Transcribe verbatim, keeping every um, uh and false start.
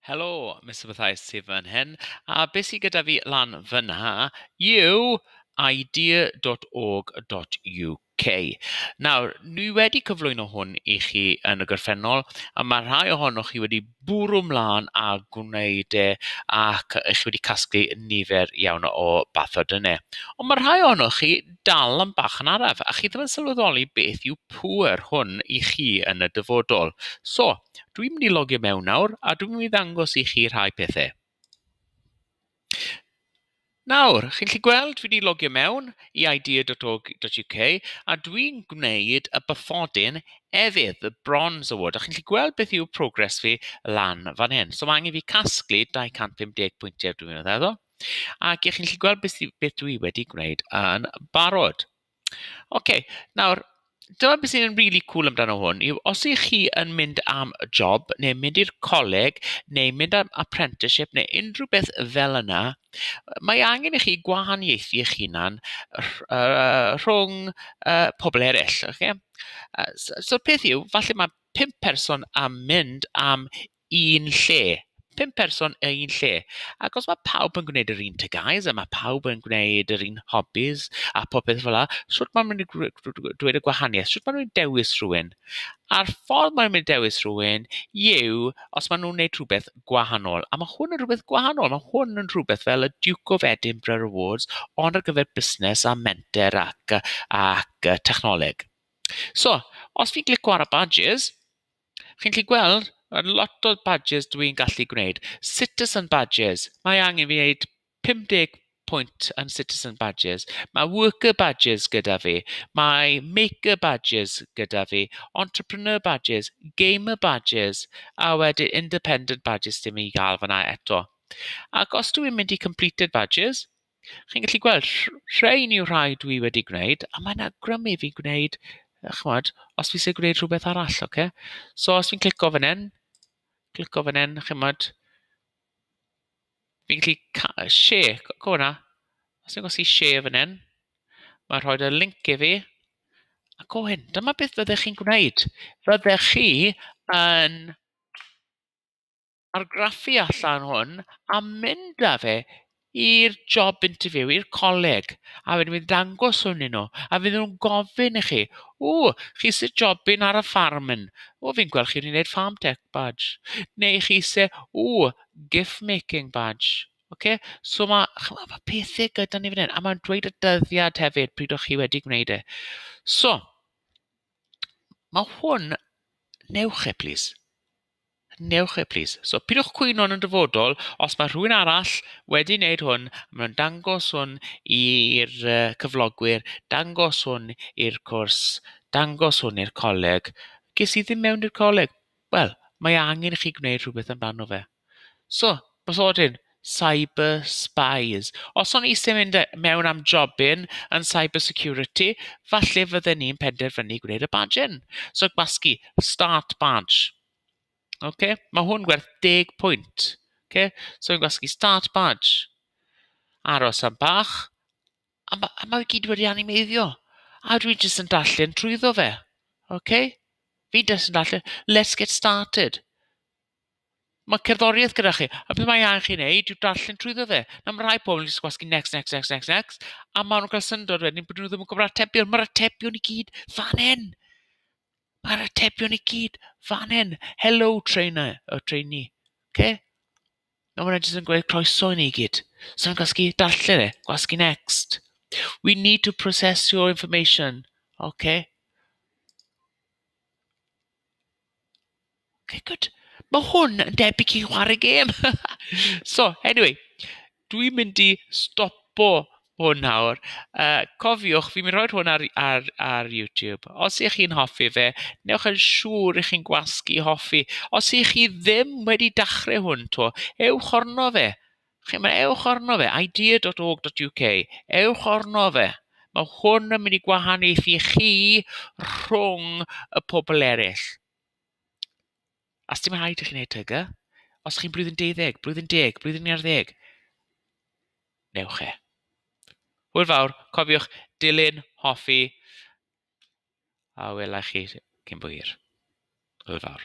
Helo, Mister Mathias sydd fan hyn, a beth sydd gyda fi lan fyna yw idea dot org dot U K. Nawr, ni wedi cyflwyno hwn i chi yn y gorffennol, a mae rhai ohonoch chi wedi bwrw mlaen a gwneud e, ac chi wedi casglu nifer iawn o bathodynnau. Ond mae rhai ohonoch chi dal yn bach yn araf, a chi ddim yn sylweddoli beth yw pŵer hwn i chi yn y dyfodol. So, dwi'n mynd i logio mewn nawr, a dwi'n mynd i ddangos i chi rhai pethau. Nawr, chi'n gallu gweld fi wedi logio mewn i idea dot org dot U K a dwi'n gwneud y bathodyn efydd, the Bronze Award. A chi'n gallu gweld beth yw progress fi lan fan hyn. So mae angen fi casglu dau cant pum deg pwyntiau dwi'n meddwl. Ac chi'n gallu gweld beth, beth dwi wedi gwneud yn barod. Oce, nawr, dyma beth sy'n really cool amdano hwn yw os ych chi yn mynd am job, neu mynd i'r coleg, neu mynd am apprenticeship, neu unrhyw beth fel yna, mae angen i chi gwahaniaethu eich hunan rh-, yy, rhwng, yy, pobl eraill. Okay? Yy, so, so'r peth yw, falle mae pump person am mynd am un lle. Pump person yn un lle. Ac os mae pawb yn gwneud yr un T G As, a mae pawb yn gwneud yr un hobbies a popeth fel 'na, shwt maen nhw'n mynd i gr-, gr-, gr-, dweud y gwahaniaeth? Shwt maen nhw'n dewis rhywun? A'r ffordd maen nhw'n mynd i dewis rhywun yw os maen nhw'n gwneud rhywbeth gwahanol. A mae hwn yn rhywbeth gwahanol. Mae hwn yn rhywbeth fel y Duke of Edinburgh Awards, ond ar gyfer busnes a menter ac, ac technoleg. So, os fi'n clicio ar y badges, chi'n gallu gweld Mae lot o badges dwi'n gallu gwneud. Citizen badges. Mae angen fi wneud pum deg pwynt yn citizen badges. Mae worker badges gyda fi. Mae maker badges gyda fi. Entrepreneur badges. Gamer badges. A wedyn independent badges dim i gael fyna eto. Ac os dwi'n mynd i completed badges, chi'n gallu gweld rh-, rhain yw rhai dwi wedi gwneud, a mae'n awgrymu fi'n gwneud, ch'mod, os fi eisiau gwneud rhywbeth arall, oce? So os fi'n clico fan hyn, clico fan hyn, ch'mod, fi'n gallu ca-, share, co-, co hwnna. Os fi'n gwasgu share fan hyn, mae'n rhoi y link i fi. Ac o hyn, dyma beth fyddech chi'n gwneud. Fyddech chi yn argraffu allan hwn a mynd â fe i'r job interview, i'r coleg, a wedyn fydd dangos hwn i nhw, a fydden nhw'n gofyn i chi, o, chi sy'n jobyn ar y ffarm yn, o, fi'n gweld chi wedi gwneud farm tech badge, neu chi sy'n, o, gift making badge. Okay? So ma, ch'mo', ma' pethau gyda ni fan hyn, a ma'n dweud y dyddiad hefyd pryd o'ch chi wedi gwneud e. So, ma' hwn, newch e, please. Newch e, please. So, pidwch cwyno yn y dyfodol, os mae rhywun arall wedi wneud hwn, maen nhw'n dangos hwn i'r, yy, cyflogwyr, dangos hwn i'r cwrs, dangos hwn i'r coleg. Ges i ddim mewn i'r coleg. Wel, mae angen i chi gwneud rhywbeth amdano fe. So, bathodyn, cyber spies. Os o'n i eisiau mynd mewn am jobyn yn cyber security, falle fydden ni'n penderfynu gwneud y badge yn. So, gwasgu, start badge. Okay? Mae hwn gwerth deg pwynt. Okay? So, fi'n gwasgu start badge. Aros am bach. A ma-, a mae gyd wedi animeiddio. A dwi jyst yn darllen trwyddo fe. Okay? Fi jyst yn darllen, let's get started. Mae cerddoriaeth gyda chi. A beth mae angen chi wneud yw darllen trwyddo fe. Na, mae rhai pobl yn jyst gwasgu next, next, next, next, next. A maen nhw'n cael syndod wedyn bod nhw ddim yn gwybod atebion. Mae'r atebion i gyd fan hyn. Mae'r atebion i gyd fan hyn. Hello, trainer, o trainee. Okay? Na, maen nhw jyst yn gweud croeso i ni gyd. So yn gwasgu darllen e, gwasgu next. We need to process your information. Okay? Okay, good. Mae hwn yn debyg i chwarae gêm. So, anyway, dwi'n mynd i stopo hwn nawr. Uh, cofiwch, fi'n mynd i roid hwn ar, ar, ar YouTube. Os ych chi'n hoffi fe, newch yn siŵr i chi'n gwasgu hoffi. Os ych chi ddim wedi dechrau hwn to, ewch arno fe. Chi'n mynd, ewch arno fe, idea dot org dot U K. Ewch arno fe. Mae hwn yn mynd i gwahaniaethu chi rhwng y pobl eraill. A sdim rhaid i chi wneud T G. Os chi'n blwyddyn deuddeg, blwyddyn deg, blwyddyn un ar ddeg, newch e. Hwyl fawr, cofiwch dilyn, hoffi, a welai chi cyn bo hir. Hwyl fawr.